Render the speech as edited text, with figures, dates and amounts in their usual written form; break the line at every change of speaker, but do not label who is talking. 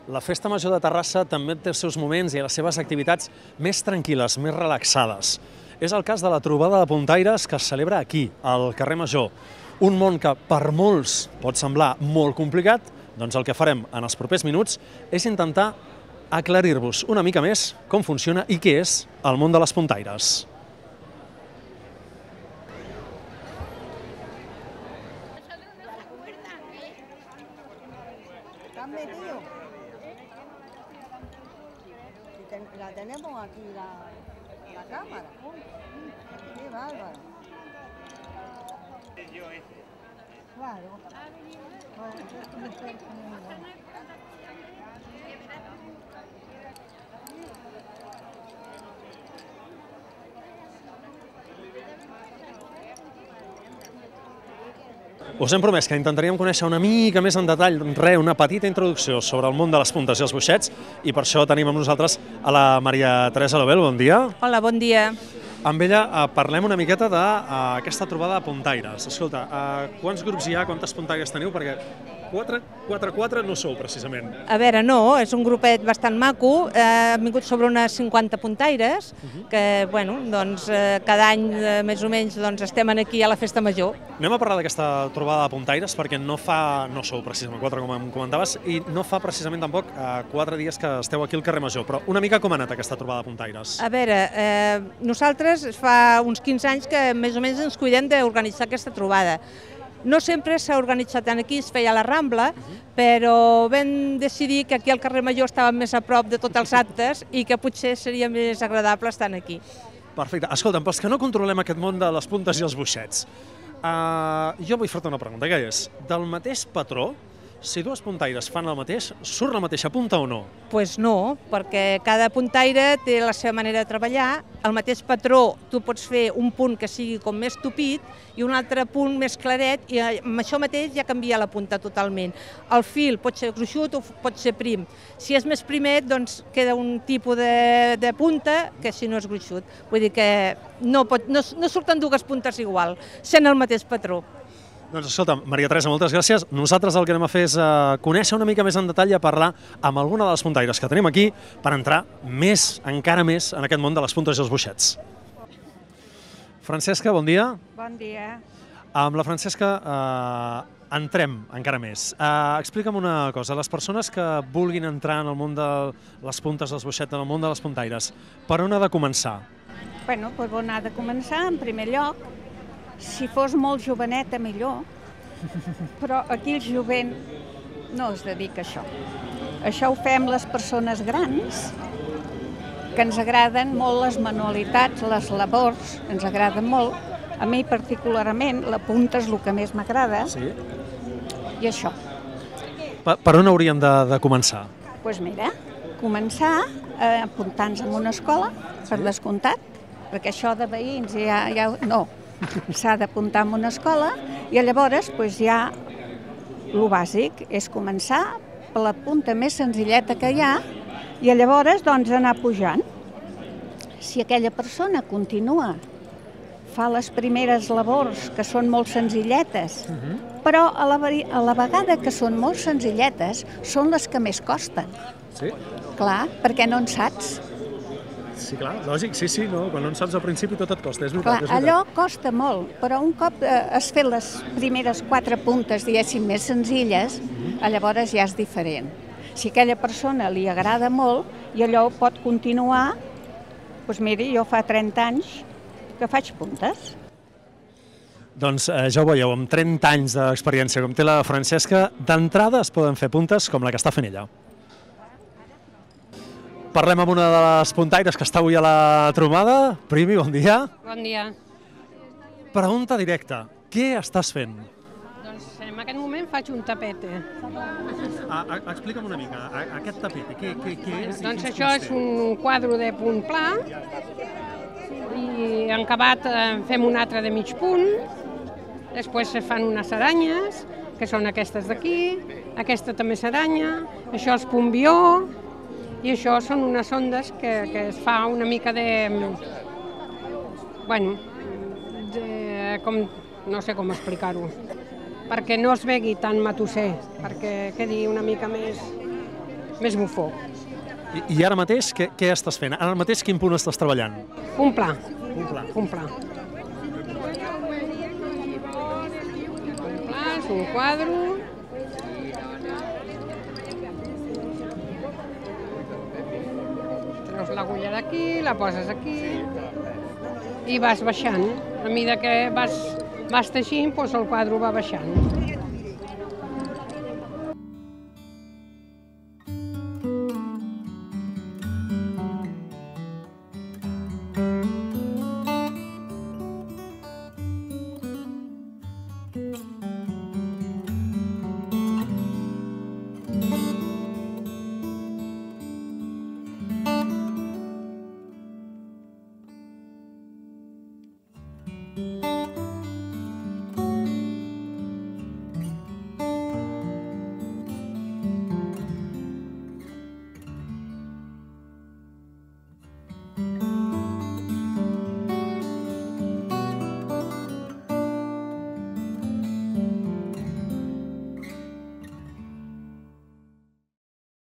La Festa Major de Terrassa també té els seus moments i les seves activitats més tranquil·les, més relaxades. És el cas de la trobada de puntaires que es celebra aquí, al carrer Major. Un món que per molts pot semblar molt complicat, doncs el que farem en els propers minuts és intentar aclarir-vos una mica més com funciona i què és el món de les puntaires.
La tenemos aquí, la cámara. Qué bárbaro. Claro. Bueno, esto me está muy
Us hem promès que intentaríem conèixer una mica més en detall, una petita introducció sobre el món de les puntes i els boixets, i per això tenim amb nosaltres a la Maria Teresa Lobel. Bon dia.
Hola, bon dia.
Amb ella parlem una miqueta d'aquesta trobada de puntaires. Escolta, quants grups hi ha, quantes puntaires teniu? Perquè 4 no sou, precisament.
A veure, no, és un grupet bastant maco. Hem vingut sobre unes 50 puntaires, que, bueno, doncs, cada any, més o menys, doncs, estem aquí a la Festa Major.
Anem a parlar d'aquesta trobada de puntaires, perquè no sou precisament 4, com em comentaves, i no fa precisament tampoc 4 dies que esteu aquí al carrer Major. Però una mica com ha anat aquesta trobada de puntaires?
A veure, nosaltres fa uns 15 anys que més o menys ens cuidem d'organitzar aquesta trobada. No sempre s'ha organitzat aquí, es feia a la Rambla, però vam decidir que aquí al carrer Major estàvem més a prop de tots els actes i que potser seria més agradable estar aquí.
Perfecte. Escolta'm, pels que no controlem aquest món de les puntes i els boixets, jo vull fer-te una pregunta, que és, del mateix patró, si dues puntaires fan el mateix, surt la mateixa punta o no?
Doncs no, perquè cada puntaire té la seva manera de treballar. El mateix patró, tu pots fer un punt que sigui com més tupit i un altre punt més claret, i amb això mateix ja canvia la punta totalment. El fil pot ser gruixut o pot ser prim. Si és més primet, doncs queda un tipus de punta que si no és gruixut. Vull dir que no surten dues puntes igual, sent el mateix patró.
Doncs escolta, Maria Teresa, moltes gràcies. Nosaltres el que anem a fer és conèixer una mica més en detall i a parlar amb alguna de les puntaires que tenim aquí per entrar encara més en aquest món de les puntes i els boixets. Francesca, bon dia.
Bon dia.
Amb la Francesca entrem encara més. Explica'm una cosa, les persones que vulguin entrar en el món de les puntes dels boixets, en el món de les puntaires, per on ha de començar?
Bueno, doncs on ha de començar, en primer lloc, si fos molt joveneta, millor, però aquí el jovent no es dedica a això. Això ho fem les persones grans, que ens agraden molt les manualitats, les labors, ens agraden molt. A mi particularment la punta és el que més m'agrada, i això.
Per on hauríem de començar?
Doncs mira, començar apuntant-nos en una escola, per descomptat, perquè això de veïns ja no. S'ha d'apuntar en una escola i llavors ja el bàsic és començar per la punta més senzilleta que hi ha i llavors anar pujant. Si aquella persona continua, fa les primeres labors que són molt senzilletes, però a la vegada que són molt senzilletes són les que més costen.
Sí?
Clar, perquè no en saps.
Sí, clar, lògic, sí, no, quan no en saps al principi tot et costa, és veritat.
Clar, allò costa molt, però un cop has fet les primeres 4 puntes, diguéssim, més senzilles, llavors ja és diferent. Si a aquella persona li agrada molt i allò pot continuar, doncs miri, jo fa 30 anys que faig puntes.
Doncs ja ho veieu, amb 30 anys d'experiència com té la Francesca, d'entrada es poden fer puntes com la que està fent ella. Parlem amb una de les puntaires que està avui a la trobada. Primi, bon dia.
Bon dia.
Pregunta directa. Què estàs fent?
Doncs en aquest moment faig un tapete.
Explica'm una mica, aquest tapete, què és?
Doncs això és un quadre de punt pla i en acabat fem un altre de mig punt. Després se fan unes aranyes, que són aquestes d'aquí, aquesta també s'aranya, això és punt-vió, i això són unes ondes que es fa una mica de... Bueno, no sé com explicar-ho, perquè no es vegi tan matusser, perquè quedi una mica més més bufó.
I ara mateix què estàs fent? Ara mateix quin punt estàs treballant?
Un pla.
Un pla.
Un pla. Un pla, és un quadre. Treus l'agulla d'aquí, la poses aquí i vas baixant. A mesura que vas teixint, doncs el quadre va baixant.